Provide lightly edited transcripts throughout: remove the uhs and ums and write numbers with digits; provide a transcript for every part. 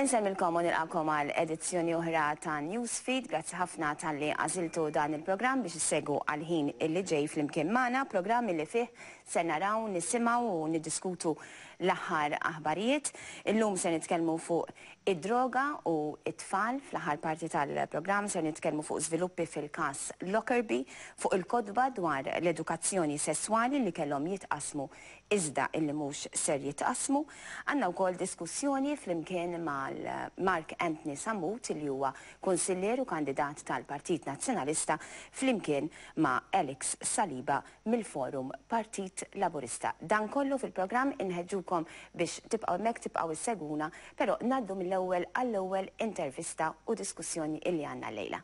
Insellmilkom u nilqakom għal edizzjoni oħra ta' Newsfeed. Grazzi ħafna talli għażiltu dan il-programm biex issegwu għal ħin illi ġej flimkien magħna, programm illi fih ser naraw, nisimgħu u niddiskutu l-aħħar aħbarijiet. Illum ser nitkellmu fuq id-droga u t-tfal. Fl-aħħar parti tal-programm ser nitkellmu fuq żviluppi fil-każ Lockerbie, fuq il-kotba dwar l-edukazzjoni sesswali li kellhom jitqassmu iżda illi mhux ser jitqassmu. Għandna wkoll diskussjoni flimkien mal-Mark Anthony Sammut illi huwa kunsillier u kandidat tal-Partit Nazzjonalista flimkien ma' Alex Saliba mill-Forum Partit Laburista. Dan kollu fil-programm inħeġġukom biex tibqgħu hemmhekk tibqgħu issegwuna, però ngħaddu mill-ewwel għall-ewwel intervista u diskussjoni illi għandna llejla.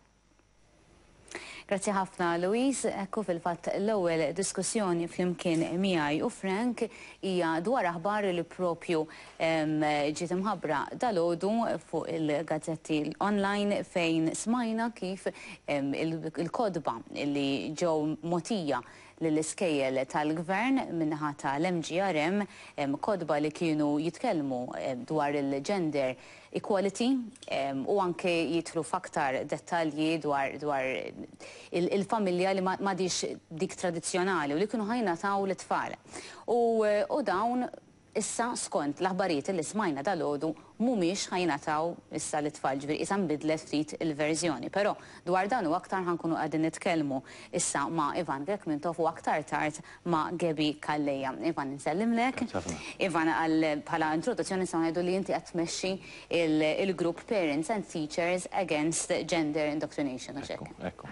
Grazzi ħafna, Louise. Ekku, fil-fatt l-ewwel diskussjoni flimkien miegħi u Frank hija dwar aħbar li propju ġiet imħabbra dalgħodu fuq il-gazzetti online, fejn smajna kif il-kotba li ġew mogħtija lill-iskejjel tal-gvern min-naħa tal-MGRM, kotba li kienu jitkellmu dwar il-gender equality u anke jidħlu f'aktar dettalji dwar il-familja li m'għadhiex dik tradizzjonali u li kienu ħa jingħataw lit-tfal. U dawn issa, skont l-aħbarijiet li smajna dalgħodu, mhumiex ħa jingħataw issa lit-tfal, ġifieri issa nbidlet ftit il-verżjoni. Però dwar dan u aktar ħa nkunu qegħdin nitkellmu issa ma' Ivan Grech Mintoff u aktar tard ma' Gaby Calleja. Ivan, nsellimlek. Ivan, għal bħala introduzzjoni nistgħu ngħidu li inti qed tmexxi il-grupp Parents and Teachers Against Gender Indoctrination, u hekk? Ekku.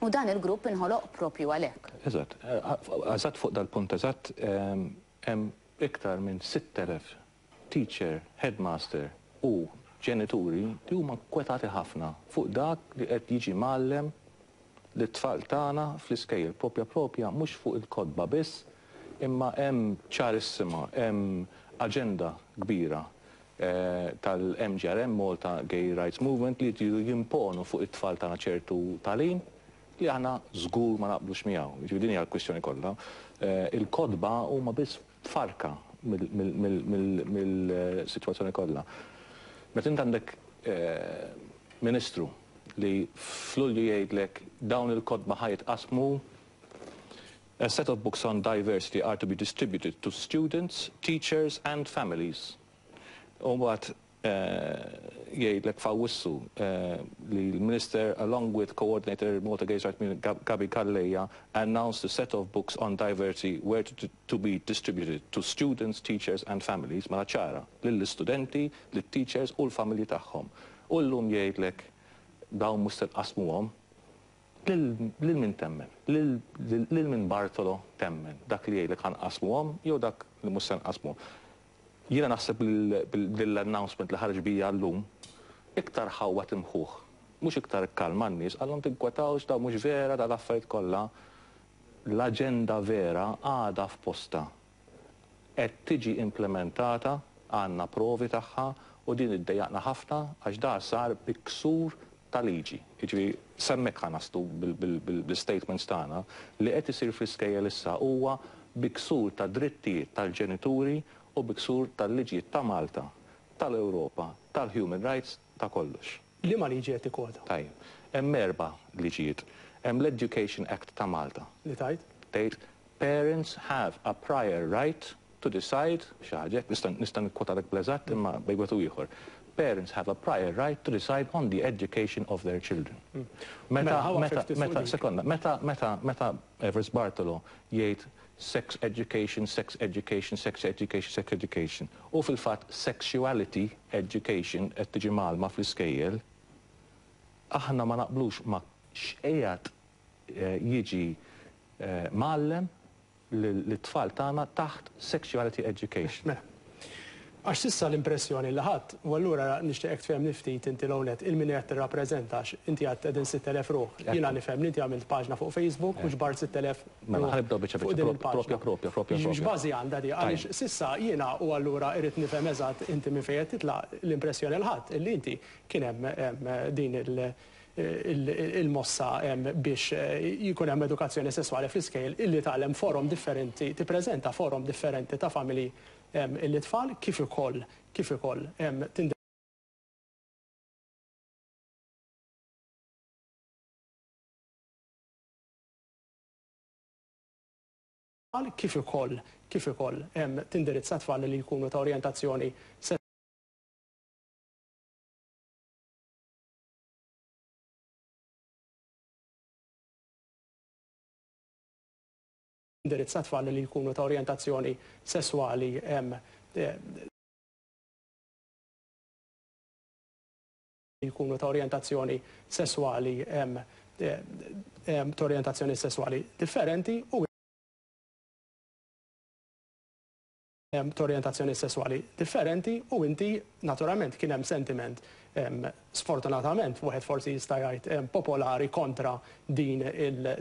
U dan il-grupp inħoloq propju għalhekk. Eżatt, fuq dal-punt eżatt, hemm iktar minn 6000 teacher, headmaster u ġenituri li huma nkwetati ħafna fuq dak li qed jiġi mgħallem lit-tfal tagħna fl-iskejjel, propja mhux fuq il-kotba biss, imma hemm ċarissima, hemm aġenda kbira tal-MGRM, Malta Gay Rights Movement, li jridu jimponu fuq it-tfal tagħna ċertu tagħlim li aħna żgur ma naqblux miegħu. Jiġifieri din hija l-kwistjoni kollha. Il-kotba huma biss farka mill-sitwazzjoni kollha. Meta int għandek ministru li f'Lulju jgħidlek dawn il-kotba ħa jitqasmu, "A set of books on diversity are to be distributed to students, teachers and families." U mbagħad jgħidlek f'Awwissu li l-Minister, along with coordinator Malta Gay Rights Movement Gaby Calleja, announced a set of books on diversity were to be distributed to students, teachers and families, mela ċara, lill-istudenti, lit-teachers u l-familji tagħhom. U llum jgħidlek dawn mhux se nqasmuhom. Lil min temmen? Lil min Bartolo temmen? Dak li jgħidlek ħa nqasmuhom jew dak li mhux se nqasmuhom? Jiena naħseb bil-announcement li ħareġ bija llum iktar ħawwad imħuħ, mhux iktar kalma n-nies, qallhom tinkwetawx, dawn mhux vera, dawn l-affarijiet kollha. L-aġenda vera għadha f'postha. Qed tiġi implementata, għandna provi tagħha u din iddejjaqna ħafna għax da sar bi ksur ta' liġi. Jiġifieri s'hemmhekk ħa naslu bil-statements tagħna li qed isir fl-iskejjel issa huwa bi ksur ta' drittijiet tal-ġenituri u bi ksur tal-liġijiet ta' Malta, tal-Ewropa, tal-human rights, ta' kollox. Liema liġi qed tikkwota? Tajjeb. Hemm erba' liġijiet. Hemm l-Education Act ta' Malta. Li tgħid? Tgħid parents have a prior right to decide, xi ħaġa hekk, nista' nikkwotalek bl-eżatt imma bejn wieħed u ieħor. Parents have a prior right to decide on the education of their children. Meta, meta, meta, sekonda, meta, meta, meta Evarist Bartolo jgħid sex education, sex education, sex education, sex education, u fil-fatt sexuality education qed tiġi mgħallma fl-iskejjel, aħna ma naqblux ma' x'qiegħed jiġi mgħallem lit-tfal tagħna taħt sexuality education. Mela. Għax s'issa l-impressjoni li ħadt, u allura nixtieqek tfehemni ftit inti l-ewwel nett il min qed tirrappreżenta, għax inti għedt qegħdin 6,000 ruħ. Jiena nifhem li inti għamilt paġna fuq Facebook u ġbart 6,000 Mela, ħa nibdew biċċa fuq din biċċa, il-paġna. Propja, propja, propja, propja. X'bażi għandha di? Għaliex s'issa jiena, u allura irrid nifhem eżatt inti minn fejn qed titlaq, l-impressjoni li ħadt illi inti kien hemm din il-mossa biex jkun hemm edukazzjoni sesswali fl-iskejjel illi tgħallem forom differenti, tippreżenta forom differenti ta' familji lit-tfal kif ukoll tindirizza Kif ukoll kif ukoll tindirizza tfal li jkunu ta' orjentazzjoni indirizza tfal li jkunu ta' orjentazzjoni sesswali jkunu ta' orjentazzjoni sesswali ta' orjentazzjoni sesswali differenti u ta' orjentazzjoni sesswali differenti u inti naturalment kien hemm sentiment sfortunatament wieħed forsi jista' jgħid popolari kontra din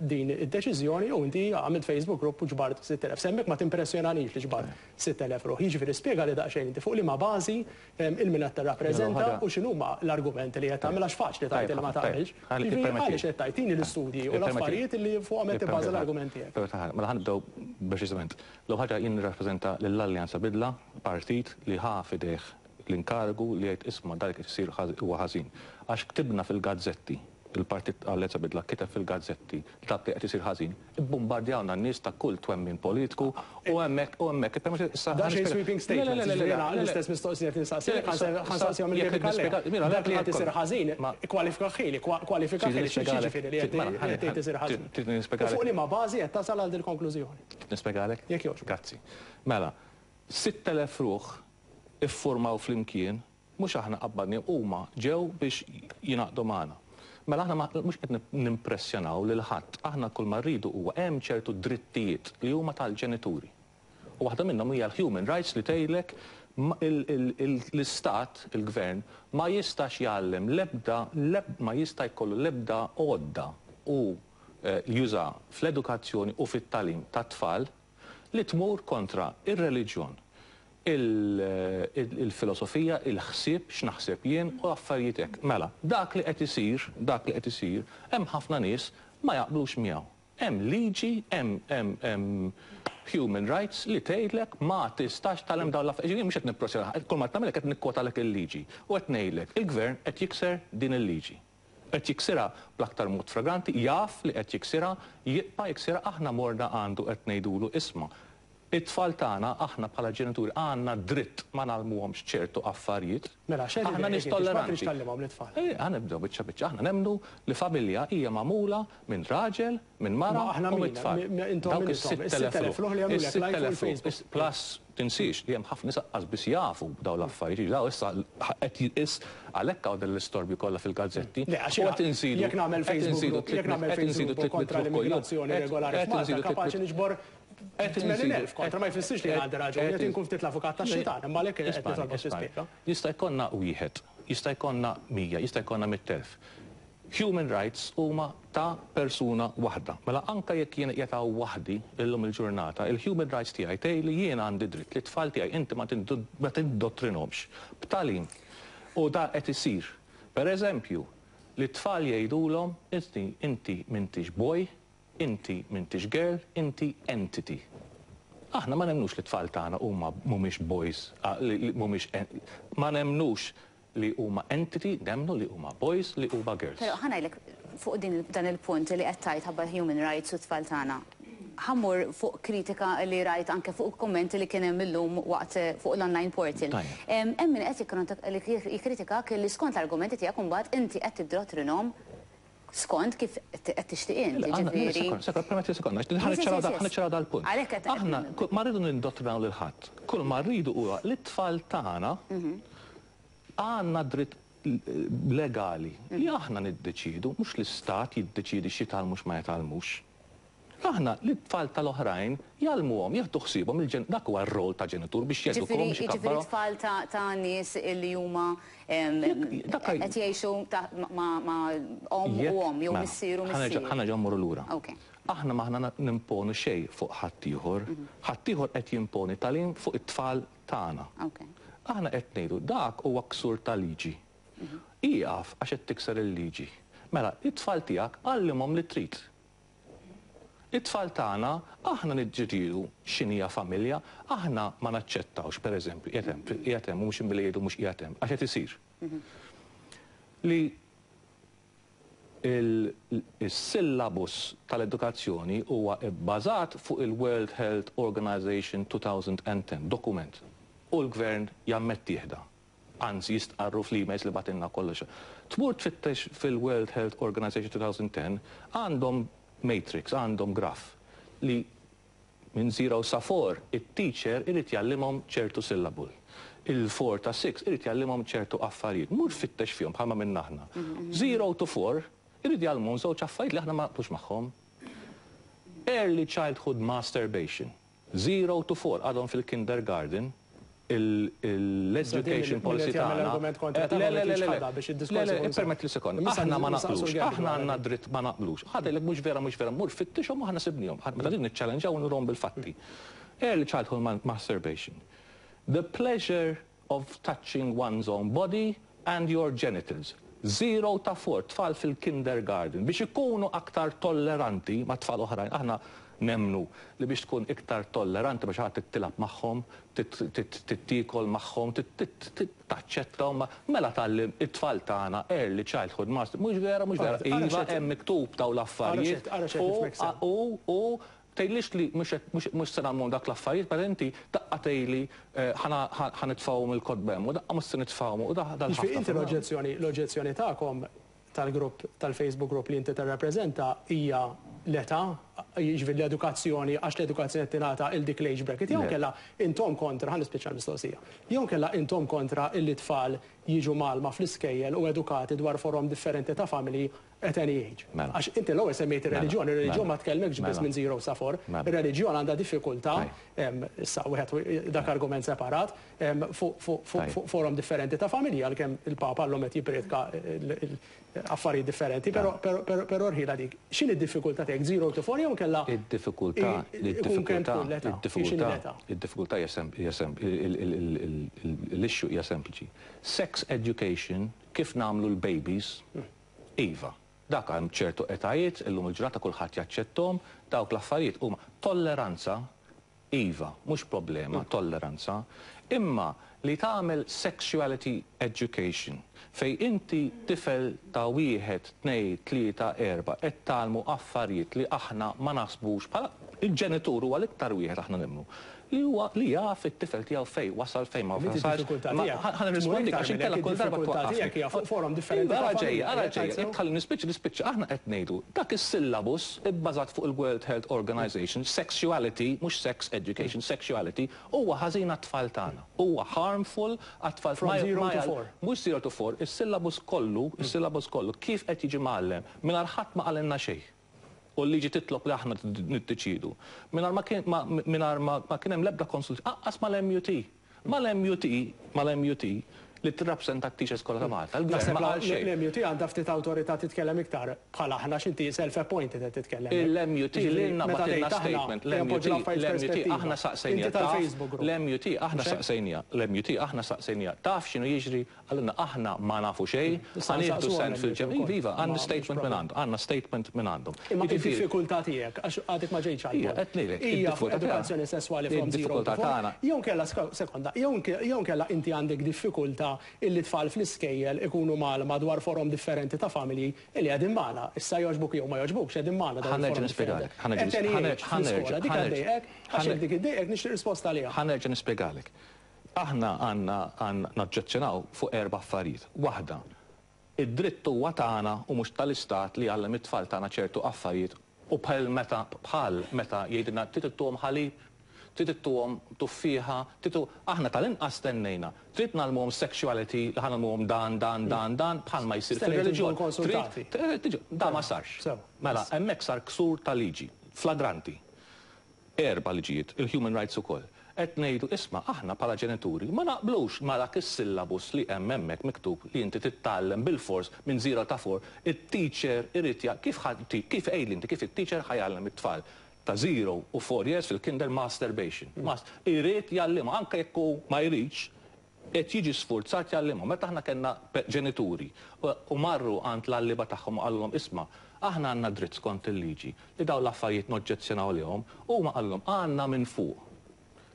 din id-deċiżjoni u inti għamilt Facebook group u ġbart 6,000. S'hemmhekk ma timpressjonanix li ġbart 6,000 ruħ. Jiġifieri spjegali daqsxejn inti fuq liema bażi 'il min qed tirrappreżenta u x'inhuma l-argumenti li qed tagħmel għax faċli tgħid li ma tagħmilx. Jiġifieri għaliex qed tgħid? Tini l-istudji u l-affarijiet li fuqhom qed tibbaża l-argument tiegħek. Mela ħa nibdew preċiżament. L-ewwel ħaġa jien nirrappreżenta lill-Alleanza Bidla, partit li ħa f'idejh l-inkarigu li jgħid isma' dak li qed isir huwa ħażin. Għax ktibna fil-gazzetti il-Partit Alleanza Bidla kiteb fil-gazzetti li dak li qed isir ħażin, ibbumbardjawna n-nies ta' kull twemmin politiku u hemmhekk u hemmhekk ippermetti issa Dan xejn sweeping statement, jiġifieri jiena l-istess mistoqsija qed nistaqsilek ħa nsaqsihom lil Gaby Calleja. Dak li qed isir ħażin, ikkwalifikahhieli, kwalifikahhieli, x'jiġifieri li qed tgħid isir ħażin? U fuq liema bażi qed tasal għal dil-konklużjoni? Trid nispjegalek? Jekk jogħġbok. Grazzi. Mela, 6,000 ruħ iffurmaw flimkien Mhux aħna qabbadniehom, huma ġew biex jingħaqdu magħna. Mela aħna mhux qed nimpressjonaw lil ħadd, aħna kull ma rridu huwa hemm ċertu drittijiet li huma tal-ġenituri. U waħda minnhom hija l-human rights li tgħidlek l-istat, il-gvern, ma jistax jgħallem l-ebda, ma jista' jkollu l-ebda għodda u juża fl-edukazzjoni u fit-tagħlim tat-tfal li tmur kontra r-reliġjon, il-filosofija, il-ħsieb, x'naħseb jien u affarijiet hekk. Mela, dak li qed isir, dak li qed isir, hemm ħafna nies ma jaqblux miegħu. Hemm liġi, hemm hemm hemm human rights li tgħidlek ma tistax tgħallem dawn l-affarijiet. Jiġifieri jien mhux qed nippressjona, kull ma qed nagħmillek qed nikkwotalek il-liġi u qed ngħidlek il-gvern qed jikser din il-liġi. Qed jiksirha bl-aktar mod fragranti, jaf li qed jiksirha, jibqa' jiksirha, aħna morna għandu qed ngħidulu isma', it-tfal tagħna aħna bħala ġenituri għandna dritt ma ngħallmuhomx ċertu affarijiet. Mela, x'qed Aħna nies idejqek inti? X'ma tolleranti. tridx tgħallimhom lit-tfal? Eh, ħa nibdew biċċa biċċa. Aħna nemmnu li familja hija magħmula minn raġel, minn mara Ma aħna u min? mit-tfal. Intom Dawk min intom? is-6,000 Is-6,000 ruħ li għamlulek like fuq Is-6,000 ruħ. il-Facebook. Plus Tinsiex li hemm ħafna nies aqqas biss jafu b'dawn l-affarijiet, jiġifieri dawn issa qed jis għalhekk hawn din l-istorbju kollha fil-gazzetti. Le, għax U qed inżidu jekk nagħmel qed Facebook inżidu group, jekk nagħmel qed inżidu Facebook group kontra 300 ruħ kuljum. l-immigrazzjoni Qed regolari qed f'Malta, inżidu kapaċi 300 niġbor qed inżidu 80,000 kontra, ma jfissirx li jien għandi raġuni, qed inkun ftit l-avukat tax-xitan, imma għalhekk qed Ismagħni, nitolbok ismagħni. tispjega. Jista' jkollna wieħed, jista' jkollna 100, jista' jkollna 100,000. Human rights huma ta' persuna waħda. Mela anke jekk jien qiegħed hawn waħdi illum il-ġurnata, il-human rights tiegħi tgħid li jien għandi dritt li t-tfal tiegħi inti ma tindottrinhomx b'tagħlim. U dan qed isir. Per eżempju, li t-tfal jgħidulhom inti inti m'intix boy, inti m'intix girl, inti entity. Aħna ma nemmnux li t-tfal tagħna huma mhumiex boys, li mhumiex ma nemmnux Li huma entity, nemmnu li huma boys, li huma girls. Però ħa ngħidlek fuq din dan il-punt li qed tgħid ħabba l-human rights u t-tfal tagħna. Ħa mmur fuq kritika li rajt anke fuq kummenti li kien hemm illum waqt fuq l-online portal. Tajjeb. Hemm min qed jikkritikak li skont l-argumenti tiegħek imbagħad inti qed tiddrottrinhom skont kif qed tixtieq int, jiġifieri. Sekond, permetti sekonda, ħa niċċaraw dal-punt. Aħna ma rridu nindottrinaw lil ħadd. Kull ma rridu huwa li t-tfal tagħna għandna dritt legali li aħna niddeċiedu, mhux l-istat jiddeċiedi x'jitgħallmu x'ma jitgħallmux. Aħna lit-tfal tal-oħrajn jgħallmuhom, jieħdu ħsiebhom il-ġen, dak huwa r-rol ta' ġenitur biex jedukahom, biex Ġifieri ikabbarhom. tfal ta' ta' nies li huma qed jgħixu ta' ma' ma' omm u omm jew missier u missier. Ħa nerġgħu mmorru lura. Ok. Aħna m'aħna nimponu xejn fuq ħaddieħor. Ħaddieħor qed jimponi tagħlim fuq it-tfal tagħna. Ok. Aħna qed ngħidu dak huwa ksur ta' liġi. Ieqaf għax qed tikser il-liġi. Mela, it-tfal tiegħek għallimhom li trid. It-tfal tagħna, aħna niġġieldu x'inhija familja, aħna ma naċċettawx, per eżempju, qiegħed hemm, qiegħed hemm, u mhux billi jgħidu mhux qiegħed hemm, għax qed isir. Li Il-syllabus tal-edukazzjoni huwa bbażat fuq il-World Health Organization 2010 dokument u l-gvern jammettih da. Anzi jistqarru fl-emails li bagħtilna kollox. Tmur tfittex fil-World Health Organization 2010 għandhom matrix, għandhom graph li minn 0 sa 4 it-teacher irid jgħallimhom ċertu syllable. Il-4 ta' 6 irid jgħallimhom ċertu affarijiet. Mur fittex fihom bħalma minna aħna. 0 to 4 irid jgħallimhom żewġ affarijiet li aħna ma naqblux magħhom. Early childhood masturbation. 0 to 4 għadhom fil-kindergarten l-education policy tagħna. Le, le, le, le, le, le, permetti li sekonda. Aħna ma naqblux, aħna għandna dritt ma naqblux. Ħadilek mhux vera, mhux vera, mur fittixhom u aħna sibnihom. Meta din niċċallenġaw nurhom bil-fatti. Early childhood masturbation. The pleasure of touching one's own body and your genitals. 0 ta' 4 tfal fil-kindergarten biex ikunu aktar tolleranti ma' tfal oħrajn. Aħna nemnu li biex tkun iktar tolleranti biex ħadd tilgħab magħhom, tiekol magħhom, taċċettahom, mela tgħallem it-tfal tagħna early childhood master. Mhux vera, mhux vera. Iva hemm miktub daw l-affarijiet. U tgħidlix li mhux se nagħmlu dak l-affarijiet, per inti daqqa tgħidli ħa nitfgħuhom il-kotba hemm u daqqa mhux se nitfgħuhom u dal Inti l-oġġezzjoni tagħkom tal-grupp tal-Facebook group li inti tirrappreżenta hija l-età, jiġifieri l-edukazzjoni, għax l-edukazzjoni tingħata il dik l-age bracket, jew kella intom kontra, ħa nispiċċa l-mistoqsija, jew kella intom kontra illi tfal jiġu mgħallma fl-iskejjel u edukati dwar forom differenti ta' familji at any age. Għax inti l-ewwel semmejt ir-reliġjon, ir-reliġjon ma tkellmekx biss minn 0 sa 4, ir-reliġjon għandha diffikultà, issa wieħed dak argument separat, fuq forom differenti ta' familja, għalkemm il-Papa llum qed jippriedka affarijiet differenti, però rħila dik. X'inhi d-diffikultà tiegħek 0 to 4 jew kella Id-diffikultà, id-diffikultà, id-diffikultà, id-diffikultà hija l-issue hija sempliċi. Sex education kif nagħmlu l-babies, iva. Dak hemm ċertu etajiet, illum il-ġurnata kulħadd jaċċettom, dawk l-affarijiet huma tolleranza, iva, mhux problema, tolleranza, imma li tagħmel sexuality education fej inti tifel ta' 1, 2, 3, 4 qed tgħallmu affarijiet li aħna ma naħsbux bħala il-ġenitur huwa l-iktar wieħed aħna nemmnu li huwa li jaf it-tifel tiegħu fej wasal fejn ma wasalx. Ħa nirrispondi għax inkella kull darba twaqqafni. Fuq forom differenti. Ara ġejja, ara ġejja, jekk tħalli nispiċċa nispiċċa aħna qed ngħidu dak is-syllabus ibbażat fuq il-World Health Organization, sexuality, mhux sex education, sexuality, huwa ħażin għat-tfal tagħna. Huwa harmful għat-tfal. From 0 to 4. Mhux 0 to 4, is-syllabus kollu, is-syllabus kollu kif qed jiġi mgħallem mingħajr ħadd ma qalilna xejn. U l-liġi titlob li aħna niddeċidu. Mingħajr ma kien hemm l-ebda konsult, anqas mal-MUT. Mal-MUT, mal-MUT li tirrappreżenta t-teachers kollha ta' Malta. Il-gvern ma qal xejn. L-MUT għandha ftit awtorità titkellem iktar bħala aħna x'inti self-appointed qed titkellem. Il-MUT lilna bagħtilna statement. L-MUT aħna saqsejnija. L-MUT aħna saqsejnija. L-MUT aħna saqsejnija. Taf x'inhu jiġri għalina aħna ma nafu xejn, ħa nieħdu sent fil-ġem. Iva, għandna statement minn għandhom, għandna statement minn għandhom. Imma id-diffikultà tiegħek, għax għadek ma ġejtx għal. Qed ngħidlek, Hija fuq edukazzjoni sesswali from 0 to 4. Jew kella sekonda, jew kella inti għandek diffikultà illi tfal fl-iskejjel ikunu mgħallma dwar forom differenti ta' familji illi qegħdin magħna. Issa jogħġbuk jew ma jogħġbukx qegħdin magħna dawn Ħa nerġa' nispjegalek. Ħa nerġa' Dik għax dik iddejqek nixtieq risposta għaliha. Ħa nerġa' nispjegalek. Aħna għandna naġġezzjonaw fuq erba' affarijiet. Waħda, id-dritt huwa tagħna u mhux tal-istat li jgħallem it-tfal tagħna ċertu affarijiet u bħal meta bħal meta jgħidilna trid ittuhom ħalib, trid ittuhom tuffieħa, trid aħna tal-inqas stennejna. Trid ngħallmuhom sexuality, li ħa ngħallmuhom dan, dan, dan, dan, bħalma jsir fir-reliġjon. Da ma sarx. Mela, hemmhekk sar ksur ta' liġi, flagranti. Erba' liġijiet, il-human rights ukoll. Qed ngħidu isma' aħna bħala ġenituri ma naqblux ma dak is-syllabus li hemm hemmhekk miktub li inti titgħallem bil-fors minn 0 ta' 4, it-teacher irid kif kif għidli inti kif it-teacher ħa jgħallem it-tfal ta' 0 u 4 years fil-kinder masturbation. Irid jgħallimha anke jekk hu ma jridx, qed jiġi sfurzat jgħallimhom. Meta aħna kellna ġenituri u marru għand l-għalliema tagħhom u qalulhom isma' aħna għandna dritt skont il-liġi li dawn l-affarijiet noġġezzjonaw lihom, huma qalulhom għandna minn fuq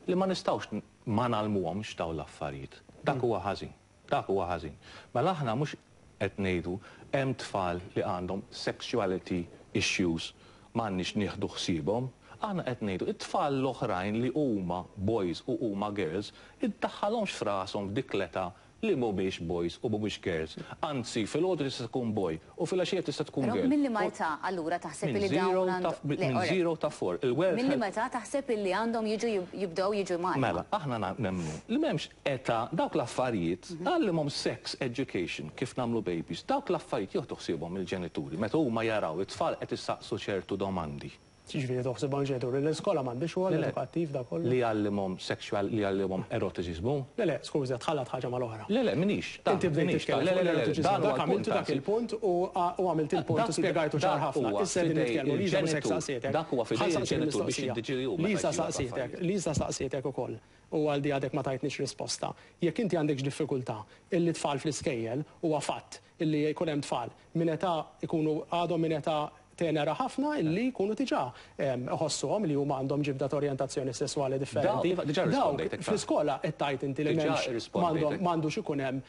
li ma nistgħux ma ngħallmuhomx dawn l-affarijiet. Dak huwa ħażin. Dak huwa ħażin. Mela aħna mhux qed ngħidu hemm tfal li għandhom sexuality issues m'għandniex nieħdu ħsiebhom. Aħna qed ngħidu it-tfal l-oħrajn li huma boys u huma girls iddaħħalhomx f'rashom f'dik l-età li mhumiex boys u mhumiex girls. Anzi, filgħodu tista' tkun boy u filgħaxija tista' tkun Però girl. Minn liema età allura taħseb Minn li dawn 0 ta' minn 0 ta' 4. Il-World Minn liema Health età taħseb illi għandhom jiġu jibdew jiġu mgħallma? Mela, aħna nemmnu li m'hemmx età. Dawk l-affarijiet, għallimhom sex education kif nagħmlu babies, dawk l-affarijiet jieħdu ħsiebhom il-ġenituri meta huma jaraw it-tfal qed issaqsu ċertu domandi. Ġifieri toħsibhom ġenituri, l-iskola m'għandix rwol Le, le. edukattiv da kollu? Li jgħallimhom sexual, li jgħallimhom erotiċiżmu. Le, le, skuża, tħallat ħaġa mal-oħra. Le, le, minix. Inti bdejt titkellem Le, fuq le, le, le, l-erotiċiżmu, dan huwa dak għamiltu dak anzi. il-punt u għamilt il-punt u spjegajtu ċar Dak ħafna. huwa Issa qegħdin fidej nitkellmu, Liza mhux hekk il-ġenitur. saqsietek. Dak huwa fidej Ħa nsaqsik il-ġenitur biex il-mistoqsija. jiddeċiedi hu meta Lisa jġibu saqsietek, l-affarijiet. Lisa saqsietek ukoll u għal di għadek ma tajtniex risposta. Jekk inti għandek diffikultà illi tfal fl-iskejjel, huwa fatt illi jkun hemm tfal minn età ikunu għadhom minn età tenera ħafna illi jkunu diġà iħossuhom li huma għandhom ġibda ta' orjentazzjoni sesswali differenti. Daw, diġà Dawk rispondejtek, ta' fl-iskola qed tgħid inti li Diġà m'hemmx rispondejtek. m'għandux ikun hemm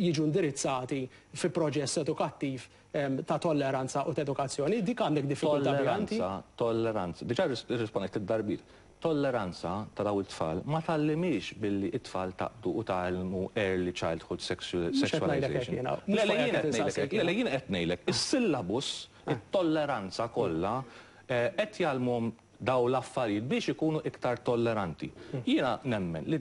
jiġu indirizzati fi proċess edukattiv ta' tolleranza u ta' edukazzjoni, dik għandek diffikultà biha inti? Tolleranza, tolleranza. Diġà rispondejt id-darbiet. Tolleranza ta' daw it-tfal ma tgħallimhiex billi it-tfal taqbdu u tgħallmu early childhood Mhux qed ngħidlek hekk sexualization. jiena, mhux Le, le, fuq jien hekk qed ngħidlek insaqsik hekk. Le, le, jien qed ngħidlek. Is-syllabus, it-tolleranza kollha, qed jgħallmuhom daw l-affarijiet biex ikunu iktar tolleranti. Jiena nemmen li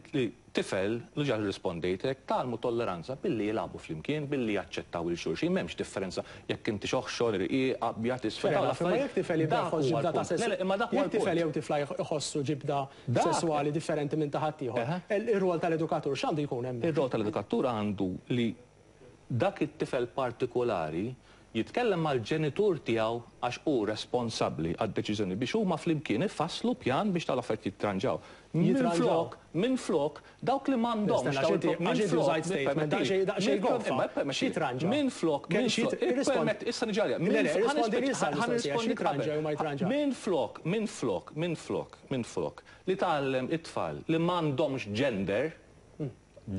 tifel, li ġa rispondejtek, tgħallmu tolleranza billi jilagħbu flimkien, billi jaċċettaw il xulxin, m'hemmx differenza jekk inti xoħxor, irqiq, abjad, isfel, Fair dawn enough, imma l-affarijiet. jekk tifel jibda Dak jħoss huwa ġibda ta' l-punt. Le, le, imma dak huwa jekk tifel l-punt. jew tifla jħossu ġibda sesswali differenti minn ta' ħaddieħor, ir-rwol tal-edukatur x'għandu jkun hemm? Ir-rwol tal-edukatur għandu li dak it-tifel partikolari jitkellem mal-ġenitur tiegħu għax hu responsabbli għad-deċiżjoni biex huma flimkien ifasslu pjan biex tal-affarijiet jitranġaw. Jitranġaw. Minn flok, dawk li m'għandhomx Stenna, dawn għax minn inti flok, użajt statement, daqsxejn goffa. imma Xi jitranġa? Minn flok, Kien minn xi flok, irrispond- ippermett, issa niġi għalija. Le, le, Minn irrispondi issa ħa l-mistoqsija, xi nirrispondi jitranġa qabel. jew ma jitranġa? Minn flok, minn flok, minn flok, minn flok, li tgħallem it-tfal li m'għandhomx gender,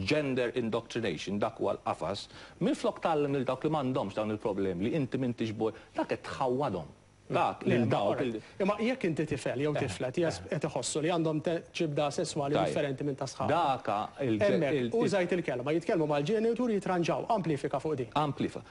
gender indoctrination, dak huwa l-qafas, minn flok tgħallem lil dawk li m'għandhomx dawn il-problemi li inti m'intix boy, dak qed tħawwadhom. Dak lil dawk Imma jekk inti tifel jew tifla qed iħossu li għandhom ġibda sesswali differenti minn ta' sħab. Daka Hemmhekk, użajt il-kelma, jitkellmu mal-ġenitur jitranġaw, amplifika fuq din. Amplifika.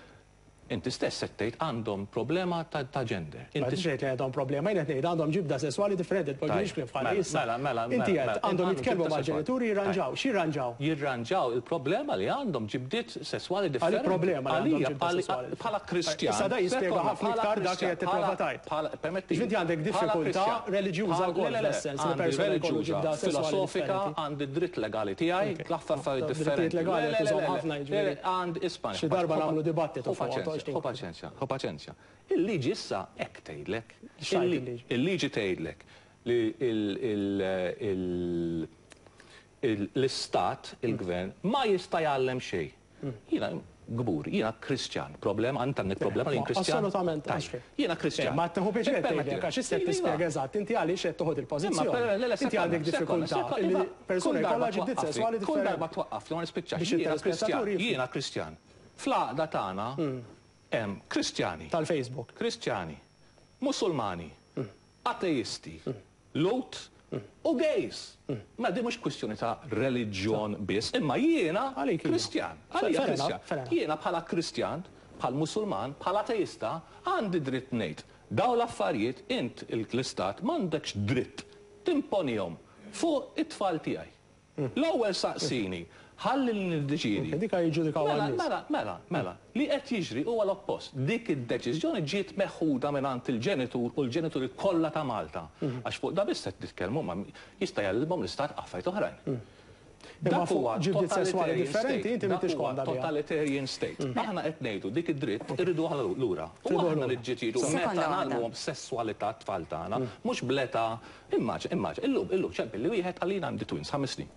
Inti stess qed tgħid għandhom problema ta' gender. Ma Inti tgħid li għandhom problema, jien qed ngħid għandhom ġibda sesswali differenti, tpoġġix kliem bħal Mela, issa. mela, mela, Inti mela, qed mela, għandhom għandhom jitkellmu ġibda mal-ġenituri sesswali. jirranġaw, x'jirranġaw? Jirranġaw il-problema li għandhom ġibdiet sesswali differenti. problema li għandhom Għalija, ġibda sesswali. bħala Kristjan. Issa da jispjega Sekonda, ħafna bħala iktar dak li qed Kristjan, tipprova bħala- tgħid. bħala- permetti, Ġifieri għandek bħala diffikultà Kristjan, reliġjuża bħala- wkoll le, le, le, fl-essens, li għandi persuna jkollu reliġjuża, ġibda sesswali filosofika, differenti. għandi dritt legali tiegħi, l-affarijiet Drittijiet differenti. legali Le, le, qed le, iżomm le, ħafna, le, jiġifieri. għandi isma', Xi darba nagħmlu dibattitu Ħu fuq paċenzja, toqgħodx ħu paċenzja, ħu paċenzja. Il-liġi issa hekk tgħidlek. X'tgħid il-liġi? Il-liġi tgħidlek li l-istat, il-gvern, ma jista' jgħallem xejn. Jiena gbur, jiena Kristjan, problema, għand għandek problema li jien Kristjan? Assolutament, Tajjeb. għax Jiena Kristjan. Ma tieħu pjaċir Ippermetti. tgħidlek, għax issa Iva. tispjega eżatt, inti għaliex qed toħod Imma, il-pożizzjoni. le, le, Inti sekonda, għandek sekonda, diffikultà sekonda, li iva, persuna kull darba jkollha ġibdiet twaqqafni, sesswali Kull darba differenti. twaqqafni, ma nispiċċax. Biex Jiena Kristjan, it-telespettatur jifhmu. jiena Kristjan. Fl-għaqda tagħna hemm Kristjani. Tal-Facebook. Kristjani, Musulmani, ateisti, Lhud u gays. Ma di mhux kwistjoni ta' reliġjon biss, imma jiena Għalik iva. Kristjan. Għalija Fair enough, Kristjan. fair enough. Jiena bħala Kristjan, bħal Musulman, bħala ateista, għandi dritt ngħid. Daw l-affarijiet int l-istat m'għandekx dritt timponihom fuq it-tfal tiegħi. L-ewwel saqsini, ħalli li niddeċidi. Ok, dika jiġġudikaw Mela, għan-nies. mela, mela, mela, li qed jiġri huwa l-oppost. Dik id-deċiżjoni ġiet meħuda mingħand il-ġenitur u l-ġenituri kollha ta' Malta. Għax fuq da biss qed nitkellmu ma jista' jgħallimhom l-istat affarijiet oħrajn. Imma Dak fuq huwa ġibdiet sesswali totalitarian differenti, state. inti Dak m'intix huwa konda biha. Totalitarian state. Aħna qed ngħidu dik id-dritt irridu aħna lura. U Tridu aħna lura. niġġieldu Sekonda meta waħda. nagħmluhom sesswalità tfal tagħna, mhux bl-età, immaġina, immaġina, illum, illum ċempel li wieħed għalina għandi twins 5 snin.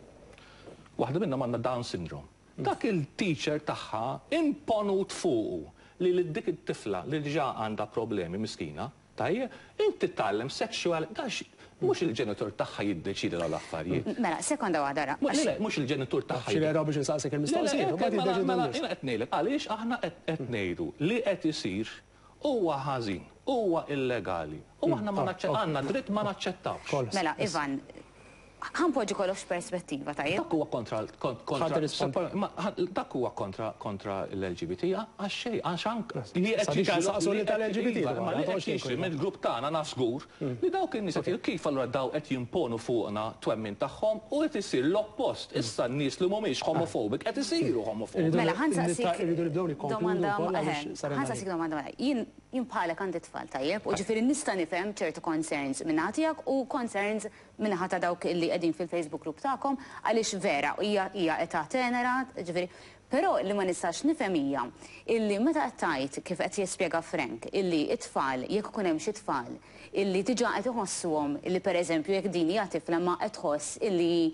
Waħda minnhom għandha Down syndrome. Dak il-teacher tagħha imponut fuqu li lil dik it-tifla li diġà għandha problemi miskina, tajjeb, inti tgħallem sexual, dax Mhux il-ġenitur tagħha jiddeċiedi dawn l-affarijiet. Mela, sekonda waħda ra. Le, mhux il-ġenitur tagħha. Xi biex insaqsik il-mistoqsijiet, u mbagħad jiddeċidu Mela, jiena qed ngħidlek għaliex aħna qed ngħidu li qed isir huwa ħażin, huwa illegali. U aħna ma għandna dritt ma naċċettawx. Mela, Ivan, ħa npoġġi kollox perspettiva, tajjeb? Dak huwa kontra kontra dak huwa kontra kontra l-LGBT għax xejn, għax anke li qed saqsu li tal-LGBT. Ma li qed jiġri mill-grupp tagħna naf żgur li dawk in-nies qed kif allura daw qed jimponu fuqna twemmin tagħhom u qed isir l-oppost. Issa n-nies li mhumiex homophobic qed isiru homophobic. Mela, ħa nsaqsik domanda, ħa nsaqsik domanda. Jien bħalek għandi tfal, tajjeb, u ġifieri nista' nifhem ċertu concerns minn tiegħek u concerns minnaħa ta' dawk illi qegħdin fil-Facebook group tagħkom, għaliex vera hija età tenera, ġifieri. Però li ma nistax nifhem hija illi meta qed tgħid, kif qed jispjega Frank, illi it-tfal, jekk ikun hemm xi tfal illi diġà qed iħossuhom illi, pereżempju, jekk din hija tifla ma qed tħoss illi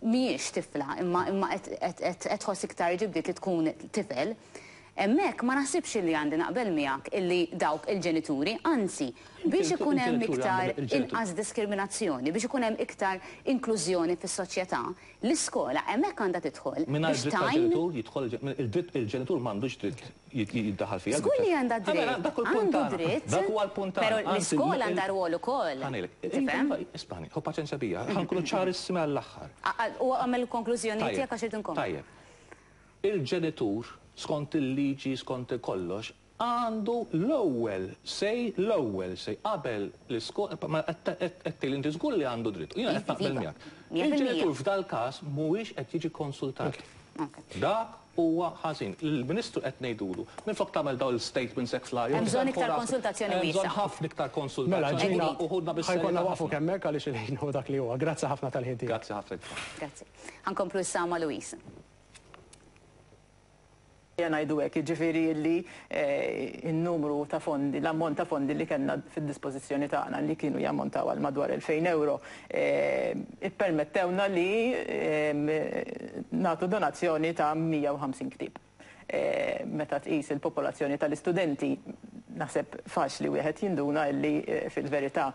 mhijiex tifla imma qed tħoss iktar ġibdiet li tkun tifel. Hemmhekk ma naħsibx illi għandi naqbel miegħek illi dawk il-ġenituri, anzi, biex ikun hemm iktar inqas diskriminazzjoni, biex ikun hemm iktar inklużjoni fis-soċjetà, l-iskola hemmhekk għandha tidħol. Mingħajr dritt tal-ġenitur jidħol il-dritt, il-ġenitur m'għandux dritt jiddaħħal fiha. Żgur li għandha dritt. Għandu dritt. Dak huwa l-punt. Però l-iskola għandha rwol ukoll. Tifhem? Ismagħni, ħu paċenzja bija, ħa nkunu ċarissimi għall-aħħar. U għamel konklużjoni tiegħek għax irid inkompli. Tajjeb. Il-ġenitur, skont il-liġi, skont kollox, għandu l-ewwel say qabel l-iskola, ma qed inti żgur li għandu dritt. U jiena qed naqbel miegħek. Il-ġenitur f'dal każ mhuwiex qed jiġi konsultat. Dak huwa ħażin. Il-Ministru qed ngħidulu, minflok tagħmel dawn il-statements hekk fl-arja. Hemm bżonn iktar konsultazzjoni Hemm bżonn ħafna iktar Mela, konsultazzjoni. ġina, U ħudna ħa jkollna bis-serjetà waqfu ħafna. hemmhekk għaliex il-ħin hu dak li huwa. Grazzi ħafna tal-ħin tiegħek. Grazzi ħafna. Grazzi. Ħa nkomplu issa ma' Louise. Ngħidu hekk, jiġifieri li il-numru ta' fondi, l-ammont ta' fondi li kellna fid-dispożizzjoni tagħna, li kienu jammontaw għal madwar 2000 euro, ippermettewna li nagħtu donazzjoni ta' 150 ktib. Meta tqis il-popolazzjoni tal-istudenti, naħseb faċli wieħed jinduna illi fil-verità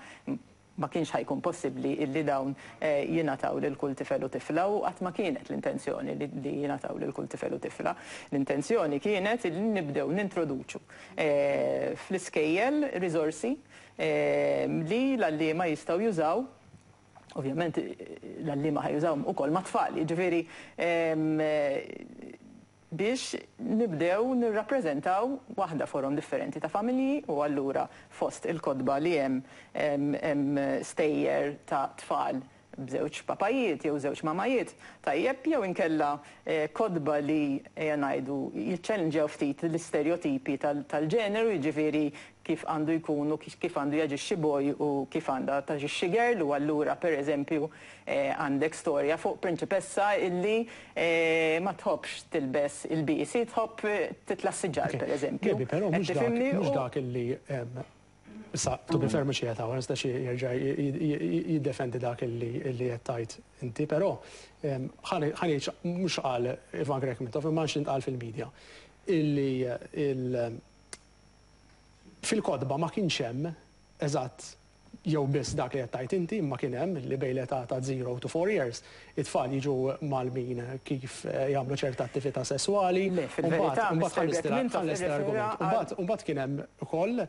ma kienx ħa jkun possibbli illi dawn jingħataw lil kull tifel u tifla, u qatt ma kienet l-intenzjoni li jingħataw lil kull tifel u tifla. L-intenzjoni kienet li nibdew nintroduċu fl-iskejjel riżorsi li l-għalliema jistgħu jużaw. Ovvjament l-għalliema ħa jużaw ukoll ma' tfal, jiġifieri biex nibdew nirrappreżentaw waħda forom differenti ta' familji. U allura fost il-kotba li hemm stejjer ta' tfal b'żewġ papajiet jew żewġ mamajiet, tajjeb, jew inkella kotba li, ejja ngħidu, jiċċellenġjaw ftit l-istereotipi tal-ġeneru, jiġifieri kif għandu jkun u kif għandu jaġixxi boy u kif għandha taġixxi girl. U allura, pereżempju, għandek storja fuq prinċipessa illi ma tħobbx tilbes ilbiesi, tħobb titla' siġar, pereżempju. Gabi, però Qed mhux dak tifhimni? Mhux dak illi issa, to be fair, mhux qiegħed hawn, nistax jerġa' jiddefendi dak illi qed tgħid inti, però ħa ngħid mhux qal Ivan Grech Mintoff imma x'intqal fil-medja illi fil-kotba ma kienx hemm eżatt jew biss dak li qed tgħid inti, imma kien hemm li bejn l-età ta' 0 to 4 years it-tfal jiġu mgħallmin kif jagħmlu ċerta attività sesswali. Le, fil-verità, Mbagħad Mr. Grech Mintoff ħalles irrefera l-argument. Mbagħad kien hemm ukoll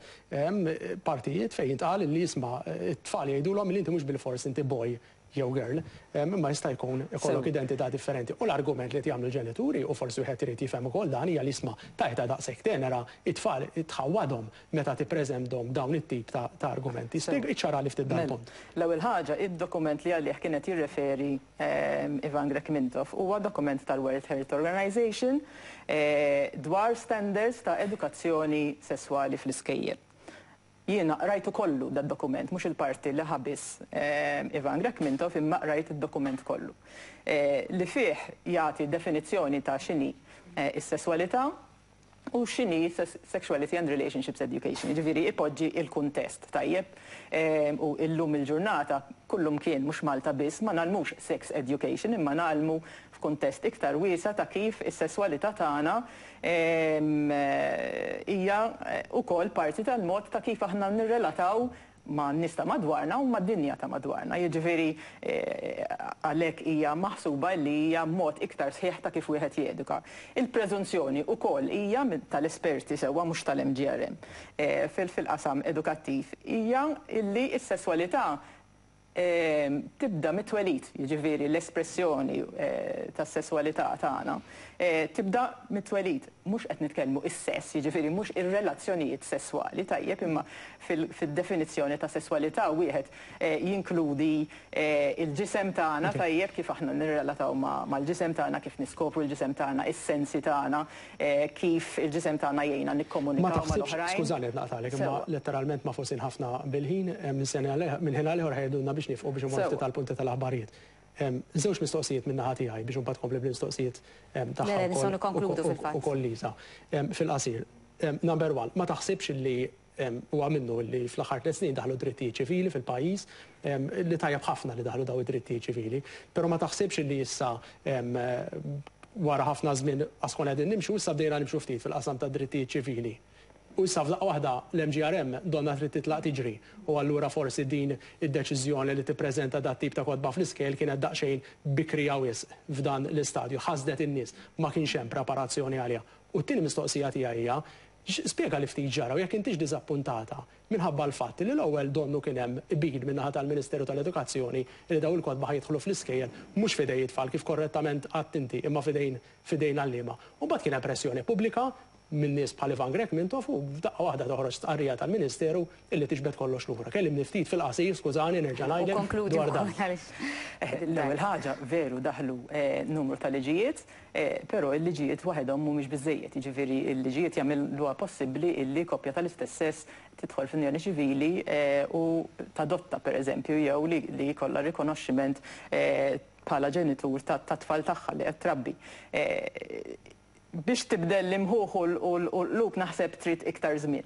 partijiet fejn jintqal li jisma' it-tfal jgħidulhom li inti mhux bil-fors inti boy jew girl, imma jista' jkun ikollok identità differenti. U l-argument li jagħmlu l-ġenituri, u forsi wieħed irid jifhem ukoll dan, hija li isma' tajta daqshekk tenera it-tfal tħawwadhom meta tippreżentahom dawn it-tip ta' argumenti. Spjega, iċċara li ftit dan Mela, punt. l-ewwel ħaġa, id-dokument li għalih kienet jirreferi Ivan Grech Mintoff huwa dokument tal-World Health Organization dwar standards ta' edukazzjoni sesswali fl-iskejjel. Jiena rajtu kollu dad-dokument, mhux il-parti li ħa biss Ivan Grech Mintoff, imma rajt id-dokument kollu. Li fih jagħti definizzjoni ta' x'inhi is-sesswalità u x'inhi sexuality and relationships education. Jiġifieri ipoġġi il-kuntest, tajjeb. U illum il-ġurnata kullum kien, mhux Malta biss, ma ngħallmux sex education, imma ngħallmu f'kuntest iktar wiesa ta' kif is-sesswalità tagħna hija ukoll parti tal-mod ta' kif aħna nirrelataw. man-nies ta' madwarna u mad-dinja ta' madwarna. Jiġifieri għalhekk hija maħsuba li hija mod iktar sħiħ ta' kif wieħed jeduka. Il-preżunzjoni wkoll hija tal-esperti sewwa mhux tal-MGRM fil-qasam edukattiv hija li s-sesswalità tibda mit-twelid, jiġifieri l-espressjoni tas-sesswalità tagħna tibda mit-twelid. Mhux qed nitkellmu is-sess, jiġifieri mhux ir-relazzjonijiet sesswali, tajjeb, imma fid-definizzjoni ta' sesswalità wieħed jinkludi il-ġisem tagħna, tajjeb, kif aħna nirrelataw mal-ġisem tagħna, kif niskopru l-ġisem tagħna, is-sensi tagħna, kif il-ġisem tagħna jgħinna nikkomunikaw mal-oħrajn. Skużani qed naqtagħlek, imma letteralment magħfusin ħafna bil-ħin, minn ħin għal ieħor ħa jgħidulna biex nifqu biex immorru ftit għall-punti tal-aħbarijiet. Żewġ mistoqsijiet min-naħa tiegħi biex imbagħad tkompli bl-mistoqsijiet tagħha wkoll Lisa. Fil-qasir. Number one, ma taħsibx li huwa minnu li fl-aħħar 3 snin daħlu drittijiet ċivili fil-pajjiż, li tajjeb ħafna li daħlu dawn id-drittijiet ċivili, però ma taħsibx li issa wara ħafna żmien qas konna qegħdin nimxu, issa bdejna nimxu ftit fil-qasam tad-drittijiet ċivili. U issa f'daqqa waħda l-MGRM donnha trid titlaq tiġri u allura forsi din id-deċiżjoni li tippreżenta dat-tip ta' kotba fl-iskejjel kienet daqsxejn bikrija wisq f'dan l-istadju, ħasdet in-nies, ma kienx hemm preparazzjoni għaliha. U t-tieni mistoqsija tiegħi hija, spjegali ftit x'ġara u jekk intix diżappuntata minħabba l-fatt li l-ewwel donnu kien hemm qbil min-naħa tal-Ministeru tal-Edukazzjoni li dawn il-kotba ħa jidħlu fl-iskejjel mhux f'idej it-tfal kif korrettament għedt inti imma f'idejn f'idejn għalliema. U mbagħad kien hemm pressjoni pubblika minn nies bħal Ivan Grech Mintoff u f'daqqa waħda toħroġ stqarrija tal-Ministeru illi tiġbed kollox lura. Kellimni ftit fil-qasir, skużani, nerġa' ngħidlek dwar dan. L-ewwel ħaġa, veru daħlu numru ta' liġijiet, però l-liġijiet waħedhom mhumiex biżżejjed. Jiġifieri l-liġijiet jagħmluha possibbli illi koppja tal-istess sess tidħol f'unjoni ċivili u tadotta, pereżempju, jew li jkollha rikonoxximent bħala ġenitur tat-tfal tagħha li qed trabbi. Biex tibdel l-imħuħ u l-qlub naħseb trid iktar żmien.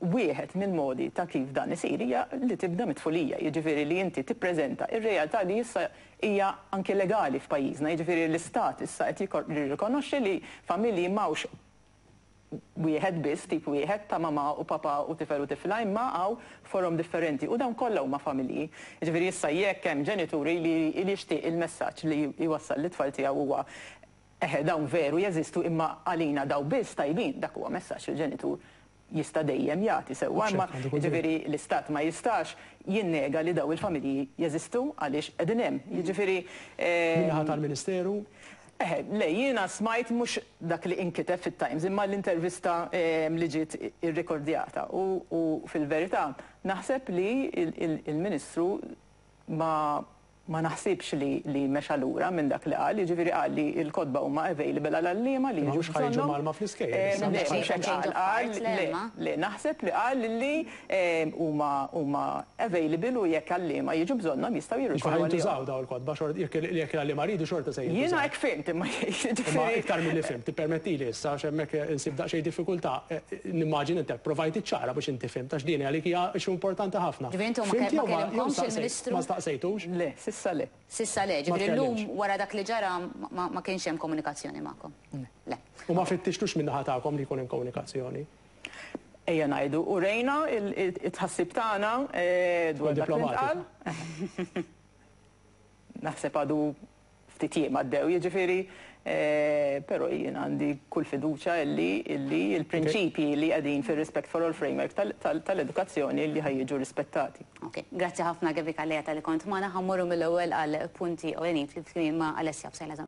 Wieħed mill-modi ta' kif dan isir hija li tibda mit-tfulija, jiġifieri li inti tippreżenta r-realtà li issa hija anki legali f'pajjiżna, jiġifieri l-istat issa qed jirrikonoxxi li familji m'hawnx wieħed biss, tip wieħed ta' mamà u papà u tifel u tifla, imma hawn forom differenti u dawn kollha huma familji. Jiġifieri issa jekk hemm ġenituri li jixtieq il-messaġġ li jwassal lit-tfal tiegħu huwa Eħe, dawn veru jeżistu imma għalina dawn biss tajbin, dak huwa messaġġ li l-ġenitur jista' dejjem jagħti sewwa, imma jiġifieri l-istat ma jistax jinnega li dawn il-familji jeżistu għaliex qegħdin hemm. Jiġifieri. Min-naħa tal-Ministeru? Eħe, le, jiena smajt mhux dak li inkiteb fit-Times imma l-intervista li ġiet irrikordjata u fil-verità naħseb li l-Ministru ma Ma naħsibx li li mexa lura minn dak li qal, jiġifieri qal li l-kotba huma available għal għalliema li Imma jiġu mhux ħa jiġu bżonnhom. mgħallma fl-iskejjel issa. Le, Mhux mhux hekk qal, qal le, le, naħseb li qal li huma huma available u jekk għalliema jiġu bżonnhom jistgħu Jiġifieri ħa jirrikorru għalihom. jintużaw dawn il-kotba xort jekk jekk l-għalliema jridu xorta se Jiena jintużaw. hekk fhimt imma Imma jiġifieri. iktar milli fhimt, tippermettili issa għax hemmhekk insib daqsxejn diffikultà, nimmaġina inti pprovajt iċċara biex inti fhimt għax din għalik hija issue importanti ħafna. Ġifieri intom ma Fhimt jew ma jew kellimkomx staqsejt il-Ministru? ma staqsejtux? Le, sissa le. Sissa le, Ma ġifieri llum tkellimx. wara dak li ġara ma kienx hemm komunikazzjoni magħkom? Le. U ma fittixtux min-naħa tagħkom li jkun hemm komunikazzjoni? Ejja ngħidu, urejna it-tħassib tagħna dwar dak li ntqal. Naħseb għadu ftit jiem għaddew, jiġifieri, però jien għandi kull fiduċja illi illi l-prinċipji li qegħdin fir-Respect for All Framework tal-edukazzjoni li ħa jiġu rispettati. Ok, grazzi ħafna Gaby Calleja talli kont magħna, ħa mmorru mill-ewwel għal punti ewlenin flimkien ma' Alessia Psaila.